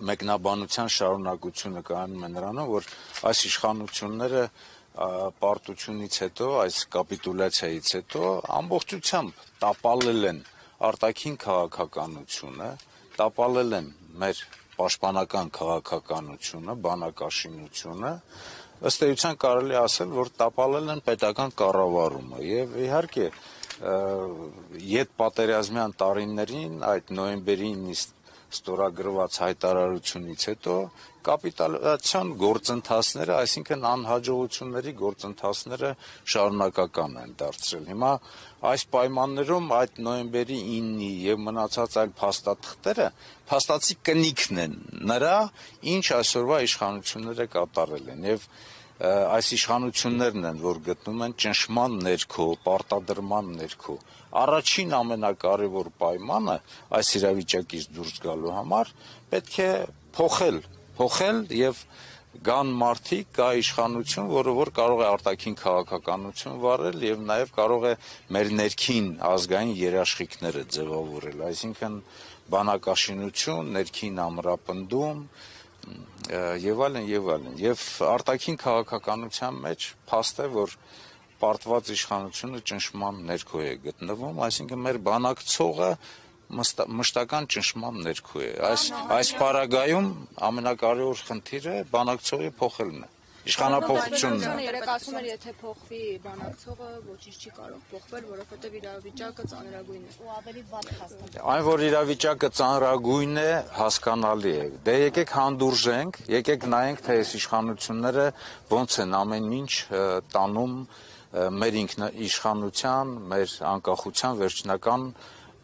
մեկնաբանության շարունակությունը կայանում է նրանում, որ այս իշխանությունները պարտությունից հետո, այս կապիտուլյացիայից հետո ամբողջությամբ տապալել են արտաքին քաղաքականությունը, տապալել են մեր պաշտպանական քաղաքականությունը, բանակաշինությունը, ըստ էության կարելի ասել, որ տապալել են պետական կառավարումը եւ իհարկե ետպատերազմյան տարիներին այդ նոյեմբերի 9 ստորագրված հայտարարությունից հետո կապիտուլյացիոն գործընթացները, այսինքն անհաջողությունների գործընթացները շարունակական են դարձրել։ Հիմա այս պայմաններում այդ նոյեմբերի 9-ի եւ մնացած այլ փաստաթղթերը փաստացի կնիքն են նրա, ինչ այսօրվա իշխանությունները կատարել են եւ այս իշխանություններն են, որ գտնում են ճնշման ներքո, պարտադրման ներքո։ Առաջին ամենակարևոր պայմանը այս իրավիճակից դուրս գալու համար պետք է փոխել եւ կան մարդիկ, կա իշխանություն, որը որ կարող է արտաքին քաղաքականություն վարել եւ նաեւ կարող է մեր ներքին ազգային երաշխիքները ձևավորել, այսինքն բանակաշինություն, ներքին ամրապնդում եւ այլն եւ այլն։ Եւ արտաքին քաղաքականության մեջ փաստ է, որ պարտված իշխանությունը ճնշման ներքո է գտնվում, այսինքն մեր բանակցողը մշտական ճնշման ներքո է։ Այս պարագայում ամենակարևոր խնդիրը բանակցողի փոխելն է, իշխանափոխությունն է։ Երեք ասում էր, եթե փոխվի բանակցողը, ոչինչ չի կարող փոխվել, որովհետև իրավիճակը ծանրագույն է։ Ու ավելի վատ հաստատել։ Այն, որ իրավիճակը ծանրագույն է, հասկանալի է։ Դե եկեք հանդուրժենք, եկեք նայենք, թե այս իշխանությունները ոնց են ամեն ինչ տանում մեր ինքնիշխանության, մեր անկախության վերջնական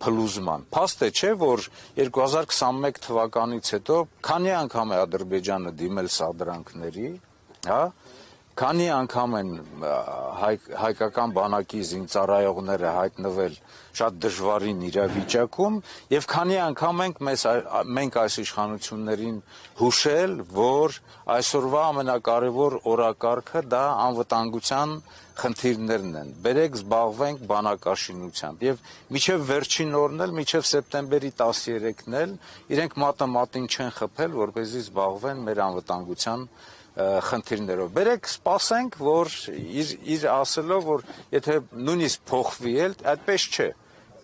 փլուզման։ Փաստ է, չէ, որ 2021 թվականից հետո քանի անգամ է Ադրբեջանը դիմել սադրանքների, հա, քանի անգամ են հայկական բանակի զինծառայողները հայտնվել շատ դժվարին իրավիճակում եւ քանի անգամ մենք այս իշխանություններին հուշել, որ այսօրվա ամենակարևոր օրակարգը դա անվտանգության խնդիրներն են։ Բերեք զբաղվենք բանակաշինությամբ եւ միջև վերջին օրն էլ, միջև սեպտեմբերի 13-ն էլ իրենք մատը մատին չեն խփել, որպեսզի զբաղվեն մեր անվտանգության խնդիրներով։ Բերեք սպասենք, որ իր ասելով, որ եթե նույնիսկ փոխվի էլ, այդպես չէ։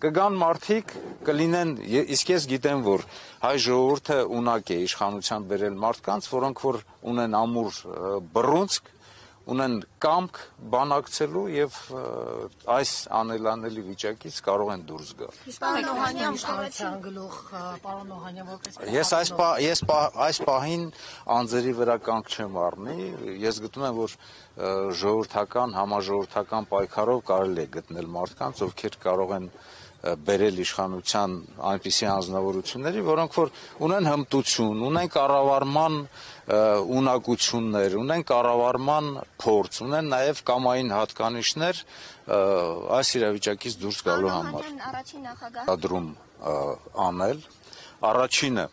Կգան մարդիկ, կլինեն, իսկ ես գիտեմ, որ հայ ժողովուրդը ունակ է իշխանության բերել մարդկանց, որոնք որ ունեն ամուր բռունցք, ունեն կամք բանակցելու եւ այս անելանելի վիճակից կարող են դուրս գալ։ Ես այս պահին անձերի վրա կանգ չեմ առնի, ես գտնում եմ, որ ժողովրդական, համաժողովրդական պայքարով կարելի է գտնել մարդկանց, ովքեր կարող են բերել իշխանության այնպիսի անձնավորությունների, որոնք որ ունեն հմտություն, ունեն կառավարման ունակություններ, ունեն կառավարման փորձ, ունեն նաև կամային հատկանիշներ այս իրավիճակից դուրս գալու համար։ Առաջին նախագահ դրում անել։ Առաջինը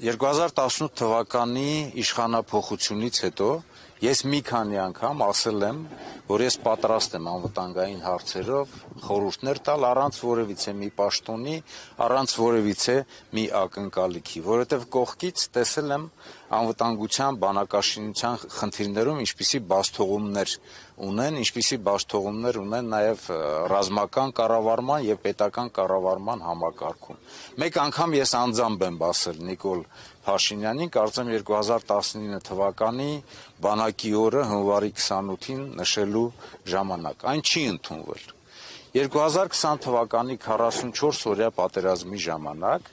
2018 թվականի իշխանափոխությունից հետո ես մի քանի անգամ ասել եմ, որ ես պատրաստ եմ անվտանգային հարցերով խորհուրդներ տալ առանց որևիցե մի պաշտոնի, առանց որևիցե մի ակնկալիքի, որովհետև կողքից տեսել եմ անվտանգության, բանակաշինության խնդիրներում ինչպիսի բացթողումներ ունեն նաև ռազմական կառավարման եւ պետական կառավարման համակարգում։ Մեկ անգամ ես անձամբ եմ ասել Նիկոլ Փաշինյանին, կարծեմ 2019 թվականի բանակի օրը հունվարի 28-ին նշելու ժամանակ։ Այն չի ընդունվել։ 2020 թվականի 44-օրյա պատերազմի ժամանակ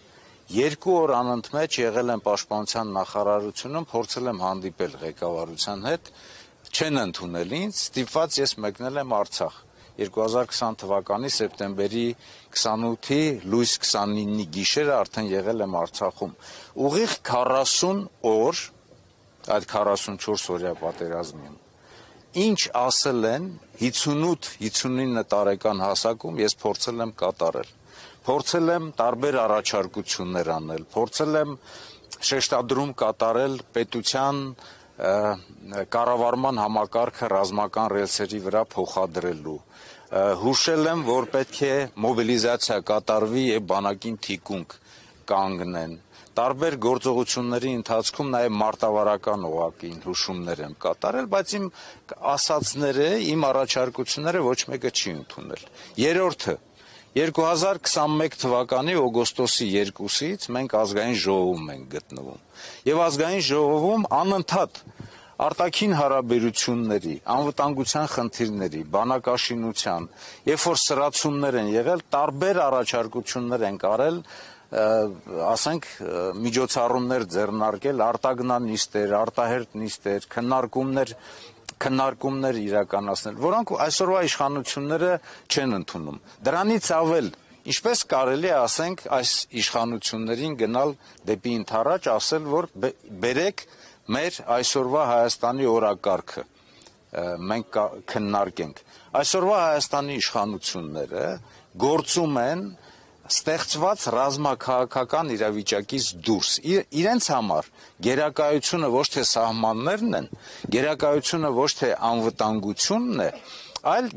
2 օր անընդմեջ եղել եմ պաշտպանության նախարարությունում, փորձել եմ հանդիպել ղեկավարության հետ, չեն ընդունել ինձ, ստիպված ես մեկնել եմ Արցախ։ 2020 թվականի սեպտեմբերի 28-ի լույս 29-ի գիշերը արդեն եղել եմ Արցախում։ Ուղիղ 40 օր այդ 44-օրյա պատերազմին ինչ ասել են 58-59 տարեկան հասակում ես փորձել եմ կատարել։ Փորձել եմ տարբեր առաջարկություններ անել, փորձել եմ շեշտադրում կատարել պետության կառավարման համակարգը ռազմական ռելսերի վրա փոխադրելու։ Հուշել եմ, որ պետք է մոբիլիզացիա կատարվի եւ բանակին թիկունք կանգնեն։ տարբեր գործողությունների ընթացքում նաև մարտավարական օղակին հուշումներ եմ կատարել, բայց իմ ասածները, իմ առաջարկությունները ոչ մեկը չի ընդունել։ Երրորդը 2021 թվականի օգոստոսի 2-ից մենք ազգային ժողովում ենք գտնվում։ Եվ ազգային ժողովում անընդհատ արտաքին հարաբերությունների, անվտանգության խնդիրների, բանակաշինության, երբ որ սրացումներ են եղել, տարբեր առաջարկություններ են արել, ասենք միջոցառումներ ձեռնարկել, արտագնանիստեր, արտահերտ նիստեր, քննարկումներ իրականացնել, որոնք այսօրվա իշխանությունները չեն ընդունում։ Դրանից ավել, ինչպես կարելի է ասենք այս իշխանություններին գնալ դեպի ընդառաջ, ասել, որ բերեք մեր այսօրվա Հայաստանի օրակարգը մենք քննարկենք։ Այսօրվա Հայաստանի իշխանությունները գործում են ստեղծված ռազմաքաղաքական իրավիճակից դուրս։ Իրենց համար գերակայությունը ոչ թե սահմաններն են, գերակայությունը ոչ թե անվտանգությունն է, այլ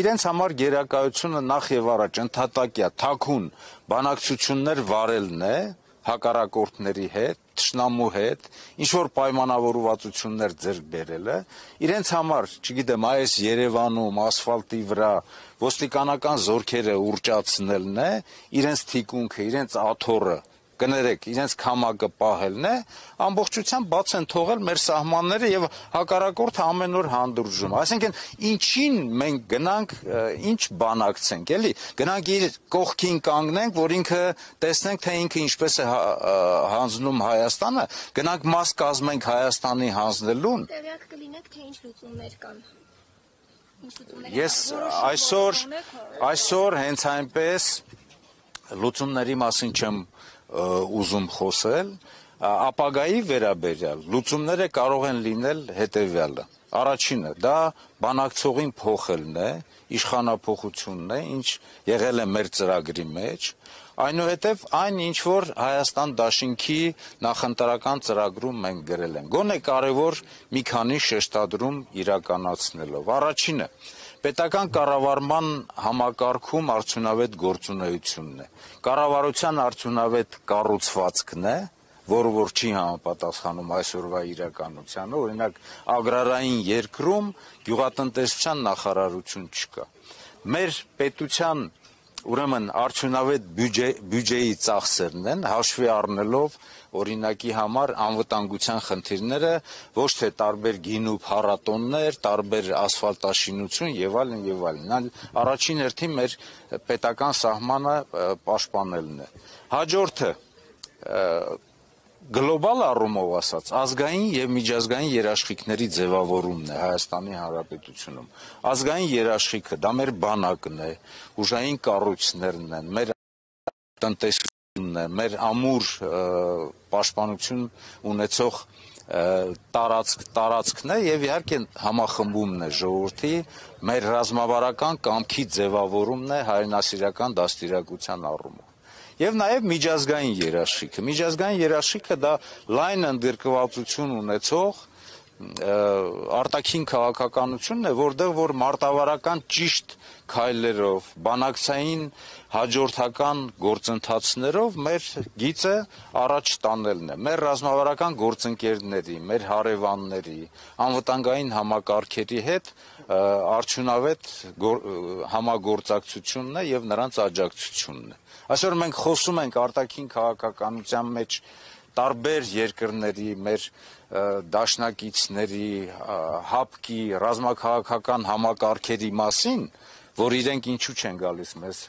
իրենց համար գերակայությունը նախ եւ առաջ ընդհատակյա թաքուն բանակցություններ վարելն է հակառակորդների հետ, թշնամու հետ, ինչ-որ պայմանավորվածություններ ձեռք բերելը, իրենց համար, չգիտեմ, այս Երևանում, ասֆալտի վրա ոստիկանական զորքերը ուռճացնելն է, իրենց թիկունքը, իրենց աթոռը, կներեք, իրենց քամակը պահելն է, ամբողջությամբ բաց են թողել մեր սահմանները եւ հակառակորդը ամեն օր հանդուրժում։ Այսինքն, ինչին մենք գնանք, ինչ բանակցենք, էլի, գնանք իր կողքին կանգնենք, որ ինքը տեսնենք, թե ինքը ինչպես է հանձնում Հայաստանը, գնանք մաս կազմենք Հայաստանի հանձնելուն։ Տեղյակ կլինեք, թե ինչ լուծումներ կան։ Ես այսօր հենց այնպես լուծումների մասին չեմ ուզում խոսել, ապագայի վերաբերյալ լուծումները կարող են լինել հետևյալը։ Առաջինը դա բանակցողին փոխելն է, իշխանափոխությունն է, ինչ եղել է մեր ծրագրի մեջ, այնուհետև այն ինչ որ Հայաստան դաշինքի նախընտրական ծրագրում մենք գրել ենք։ Գոնե կարևոր մի քանի շեշտադրում իրականացնելով։ Առաջինը պետական կառավարման համակարգում արդյունավետ գործունեությունն է։ Կառավարության արդյունավետ կառուցվածքն է, որ չի համապատասխանում այսօրվա իրականությանը, օրինակ ագրարային երկրում գյուղատնտեսության նախարարություն չկա։ Մեր պետության ուրեմն արդյունավետ բյուջեի ծախսերն են, հաշվի առնելով օրինակի համար անվտանգության խնդիրները, ոչ թե տարբեր գինու փառատոններ, տարբեր ասֆալտաշինություն եւ այլն եւ այլն։ Առաջին հերթին մեր պետական սահմանը պաշտպանելն է։ Հաջորդը գլոբալ առումով ասած, ազգային եւ միջազգային երաշխիքների ձևավորումն է Հայաստանի Հանրապետությունում։ Ազգային երաշխիքը դա մեր բանակն է, ուժային կառույցներն են, մեր տնտեսությունն է, մեր ամուր պաշտպանություն ունեցող տարածքն է եւ իհարկե համախմբումն է ժողովրդի, մեր ռազմավարական կամքի ձևավորումն է հայրենասիրական դաստիարակության առումով։ Եվ նաև միջազգային երաշխիքը։ Միջազգային երաշխիքը դա լայն ընդգրկվածություն ունեցող արտաքին քաղաքականությունն է, որտեղ որ մարտավարական ճիշտ քայլերով, բանակցային հաջորդական գործընթացներով մեր գիծը առաջ տանելն է։ Մեր ռազմավարական գործընկերների, մեր հարևանների, անվտանգային համակարգերի հետ արդյունավետ համագործակցությունն է եւ նրանց աջակցությունն է։ Այսօր մենք խոսում ենք արտաքին քաղաքականության մեջ տարբեր երկրների, մեր դաշնակիցների, հապկի, ռազմաքաղաքական համակարգերի մասին, որ իրենք ինչու չեն գալիս մեզ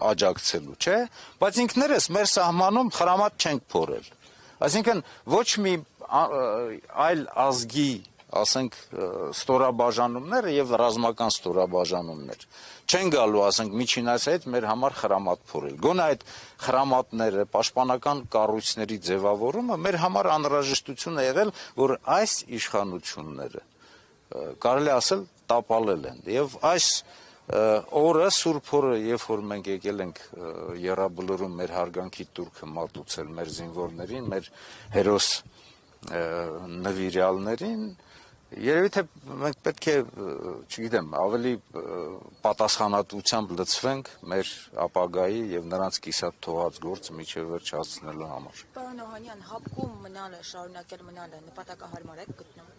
աջակցելու, չէ՞, բայց ինքներս մեր սահմանում խրամատ չենք փորել։ Այսինքն ոչ մի այլ ազգի, ասենք, ստորաբաժանումները եւ ռազմական ստորաբաժանումներ չեն գալու, ասենք, միջինայց հետ մեր համար խրամատ փորել։ Գոնե այդ խրամատները, պաշտպանական կառույցների ձևավորումը մեր համար անհրաժեշտություն է եղել, որ այս իշխանությունները կարելի ասել տապալել են։ Եվ այս օրը, Սուրբ օրը, երբ որ մենք եկել ենք Եռաբլուրում մեր հարգանքի տուրքը մատուցել մեր զինվորներին, մեր հերոս նվիրյալներին, Երևի թե մենք պետք է, չգիտեմ, ավելի պատասխանատվությամբ լծվենք մեր ապագայի եւ նրանց կիսատ թողած գործը միջև վերջ հասցնելու համար։ Պարոն Օհանյան, հապկում մնալը, շարունակել մնալը նպատակահարմար եք գտնում։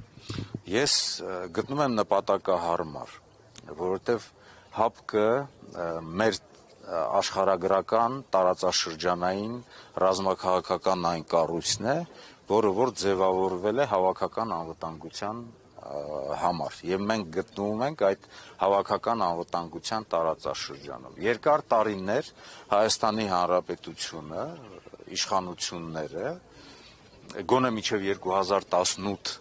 Ես գտնում եմ նպատակահարմար, որովհետեւ հապկը մեր աշխարհագրական տարածաշրջանային ռազմաքաղաքական այն կառույցն է, որը որ ձևավորվել է հավաքական անվտանգության համար եւ մենք գտնվում ենք այդ հավաքական անվտանգության տարածաշրջանում։ Երկար տարիներ Հայաստանի Հանրապետությունը, իշխանությունները գոնե մինչև 2018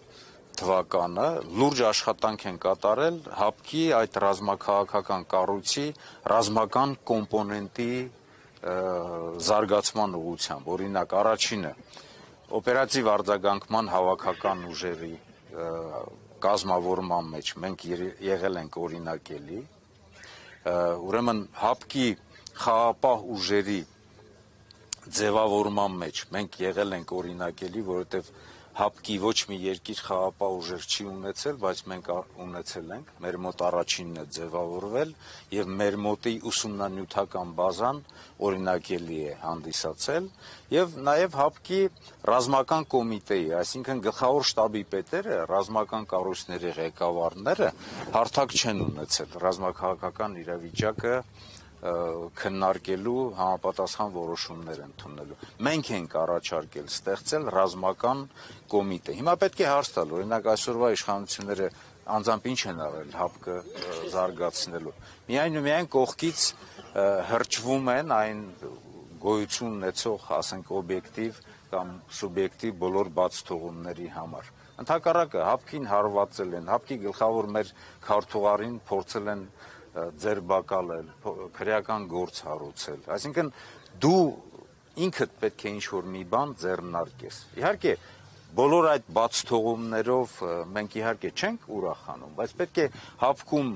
թվականը լուրջ աշխատանք են կատարել հապկի այդ ռազմաքաղաքական կառույցի ռազմական կոմպոնենտի զարգացման ուղղությամբ։ Օրինակ, առաջինը օպերատիվ արձագանքման հավաքական ուժերի կազմավորման մեջ մենք եղել ենք օրինակելի, ուրեմն հապկի խաղապահ ուժերի ձևավորման մեջ մենք եղել ենք օրինակելի, որովհետև հապկի ոչ մի երկիր խաղապահ ուժեր չի ունեցել, բայց մենք ունեցել ենք, մեր մոտ առաջինն է ձևավորվել եւ մեր մոտի ուսումնանյութական բազան օրինակելի է հանդիսացել եւ նաեւ հապկի ռազմական կոմիտեի, այսինքն գլխավոր շտաբի պետերը, ռազմական կառույցների ղեկավարները հարթակ չեն ունեցել ռազմաքաղաքական իրավիճակը քննարկելու համապատասխան որոշումներ ընդունելու։ Մենք ենք առաջարկել ստեղծել ռազմական կոմիտե։ Հիմա պետք է հարց տալ, օրինակ այսօրվա իշխանությունները անձամբ ինչ են արել հապկը զարգացնելու։ Միայն ու միայն կողքից հրճվում են այն գոյություն ունեցող, ասենք, օբյեկտիվ կամ սուբյեկտիվ բոլոր բացթողումների համար։ Ընդհակառակը հապկին հարվածել են, հապկի գլխավոր մեր քարտուղարին փորձել են ձերբակալել, քրեական գործ հարուցել։ Այսինքն դու ինքդ պետք է ինչ-որ մի բան ձեռնարկես։ Իհարկե, բոլոր այդ բացթողումներով մենք իհարկե չենք ուրախանում, բայց պետք է հապկում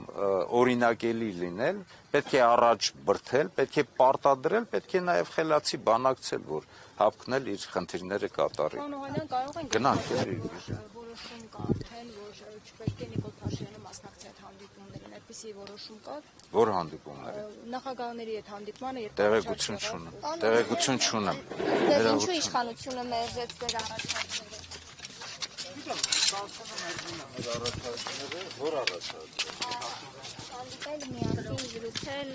օրինակելի լինել, պետք է առաջ բրդել, պետք է պարտադրել, պետք է նաև խելացի բանակցել, որ հապկն էլ իր խնդիրները կատարի։ Պարոն Օհանյան, կարող ենք Գնանք, որոշում կա արդեն, որ չպետք է Նիկոլ Փաշինյանը մասնակցի այդ հանդիպումներին, այդպիսի որոշում կա։ Որ հանդիպումները։ Նախագահների հետ հանդիպմանը երբ Տեղեկություն չունեմ։ Տեղեկություն չունեմ։ Դες ինչու իշխանությունը մերժեց ձեր առաջարկները։ Որ առաջարկները։ Հանդիպել միասին զրուցել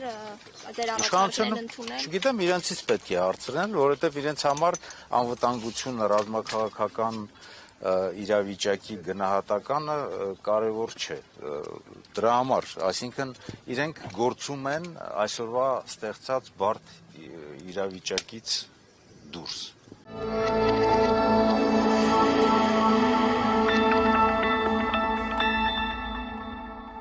ձեր առաջարկներն Իշխանությունը, ընդունել։ չգիտեմ, իրենցից պետք է հարցնել, որովհետև իրենց համար անվտանգությունը, ռազմաքաղաքական իրավիճակի գնահատականը կարևոր չէ։ Դրա համար, այսինքն իրենք գործում են այսօրվա ստեղծած բարդ իրավիճակից դուրս։